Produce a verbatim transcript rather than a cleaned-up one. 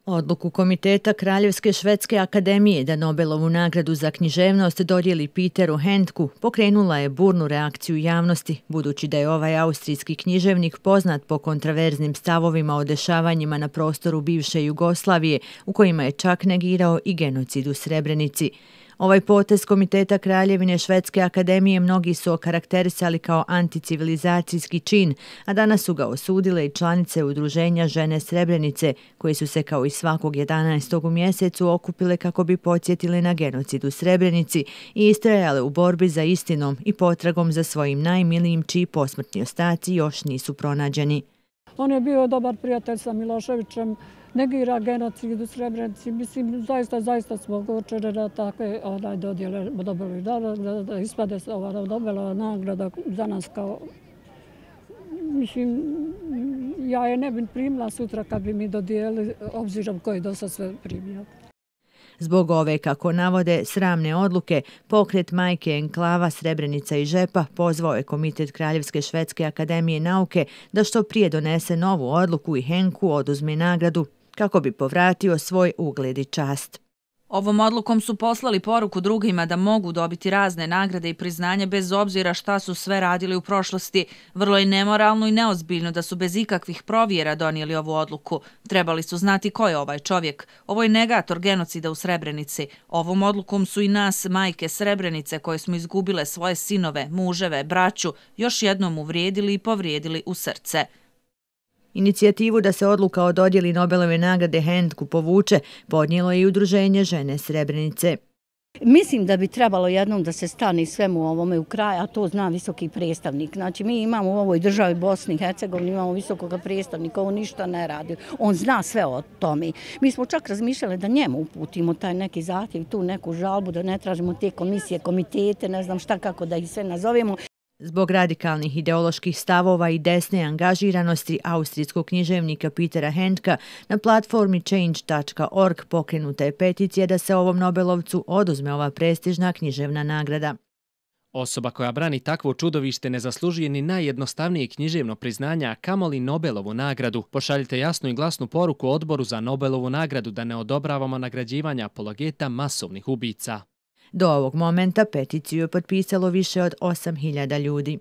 Odluku Komiteta Kraljevske švedske akademije da Nobelovu nagradu za književnost dodijeli Peteru Handku pokrenula je burnu reakciju javnosti, budući da je ovaj austrijski književnik poznat po kontraverznim stavovima o dešavanjima na prostoru bivše Jugoslavije, u kojima je čak negirao i genocid u Srebrenici. Ovaj potez Komiteta Kraljevine švedske akademije mnogi su okarakterisali kao anticivilizacijski čin, a danas su ga osudile i članice udruženja Žene Srebrenice, koje su se kao i svakog jedanaestog u mjesecu okupile kako bi podsjetile na genocid u Srebrenici i istrajale u borbi za istinom i potragom za svojim najmilijim čiji posmrtni ostaci još nisu pronađeni. On je bio dobar prijatelj sa Miloševićem, negira genocid u Srebrenici. Mislim, zaista, zaista smo očene da takve onaj dodjele dobili da, da ispade se ova Nobelova nagrada za nas kao... Mislim, ja je ne bi primila sutra kad bi mi dodijeli, obzirom koji do sad sve primio. Zbog ove, kako navode, sramne odluke, pokret Majke Enklava Srebrenica i Žepa pozvao je Komitet Kraljevske švedske akademije nauke da što prije donese novu odluku i Henku oduzme nagradu kako bi povratio svoj ugled i čast. Ovom odlukom su poslali poruku drugima da mogu dobiti razne nagrade i priznanje bez obzira šta su sve radili u prošlosti. Vrlo je nemoralno i neozbiljno da su bez ikakvih provjera donijeli ovu odluku. Trebali su znati ko je ovaj čovjek. Ovo je negator genocida u Srebrenici. Ovom odlukom su i nas, majke Srebrenice, koje smo izgubile svoje sinove, muževe, braću, još jednom uvrijedili i povrijedili u srce. Inicijativu da se odluka o dodjeli Nobelove nagrade Handku povuče podnijelo je i udruženje Žene Srebrenice. Mislim da bi trebalo jednom da se stane svemu ovome u kraj, a to zna visoki predstavnik. Znači, mi imamo u ovoj državi Bosni i Hercegovini, imamo visokog predstavnika, on ništa ne radi. On zna sve o tome. Mi smo čak razmišljali da njemu uputimo taj neki zahtjev, tu neku žalbu, da ne tražimo te komisije, komitete, ne znam šta, kako da ih sve nazovemo. Zbog radikalnih ideoloških stavova i desne angažiranosti austrijskog književnika Petera Handka na platformi change dot org pokrenuta je peticija da se ovom Nobelovcu oduzme ova prestižna književna nagrada. Osoba koja brani takvo čudovište ne zaslužuje ni najjednostavnije književno priznanja, a kamoli Nobelovu nagradu. Pošaljite jasnu i glasnu poruku Odboru za Nobelovu nagradu da ne odobravamo nagrađivanja apologeta masovnih ubica. Do ovog momenta peticiju je potpisalo više od osam hiljada ljudi.